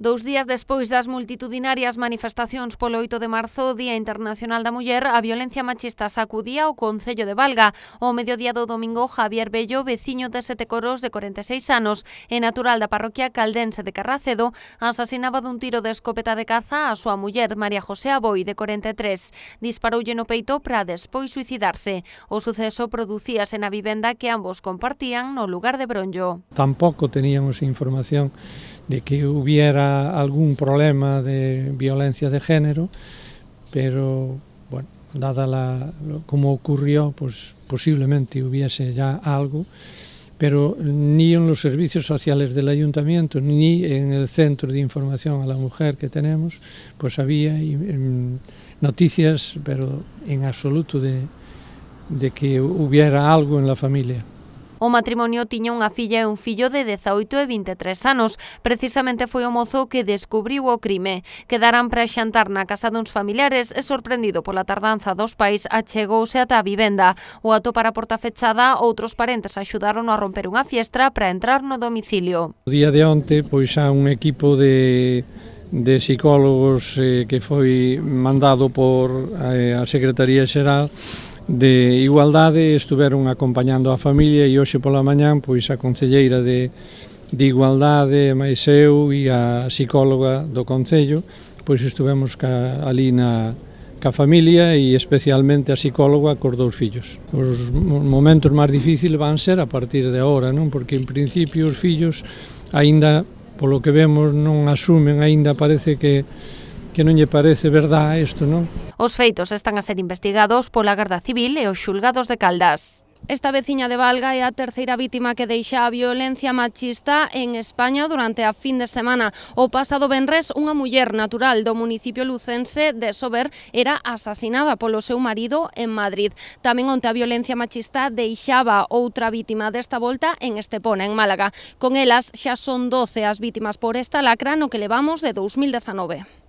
2 días despois das multitudinarias manifestacións polo 8 de marzo, Día Internacional da Muller, a violencia machista sacudía o concello de Valga. O mediodía do domingo, Javier Bello, veciño de Setecoros de 46 anos e natural da parroquia caldense de Carracedo, asasinaba dun tiro de escopeta de caza a súa muller, María José Aboi, de 43. Disparoulle no peito para despois suicidarse. O suceso producíase na vivenda que ambos compartían no lugar de Bronllo. Tampouco teníamos información de que hubiera algún problema de violencia de género, pero bueno, dada como ocurrió, pues posiblemente hubiese ya algo, pero ni en los servicios sociales del ayuntamiento ni en el centro de información a la mujer que tenemos, pues había noticias, pero en absoluto de que hubiera algo en la familia. O matrimonio tiña unha filla e un fillo de 18 e 23 anos. Precisamente foi o mozo que descubriu o crime. Quedaran para xantar na casa duns familiares e, sorprendido pola tardanza dos pais, achegouse ata a vivenda. O atopar a porta fechada, outros parentes axudaron a romper unha fiestra para entrar no domicilio. O día de onte, pois há un equipo de psicólogos que foi mandado por a Secretaría Xeral de Igualdade, estuveron acompañando a familia e hoxe pola mañán pois a concelleira de Igualdade, máis eu e a psicóloga do concello, pois estuvemos ali ca familia e especialmente a psicóloga cos dous fillos. Os momentos máis difíciles van ser a partir de agora, non? Porque en principio os fillos aínda, polo que vemos, non asumen, aínda parece que non lle parece verdade isto, non? Os feitos están a ser investigados pola Garda Civil e os xulgados de Caldas. Esta veciña de Valga é a terceira vítima que deixa a violencia machista en España durante a fin de semana. O pasado venres, unha muller natural do municipio lucense de Sober era asasinada polo seu marido en Madrid. Tamén onte a violencia machista deixaba outra vítima desta volta en Estepona, en Málaga. Con elas xa son 12 as vítimas por esta lacra no que levamos de 2019.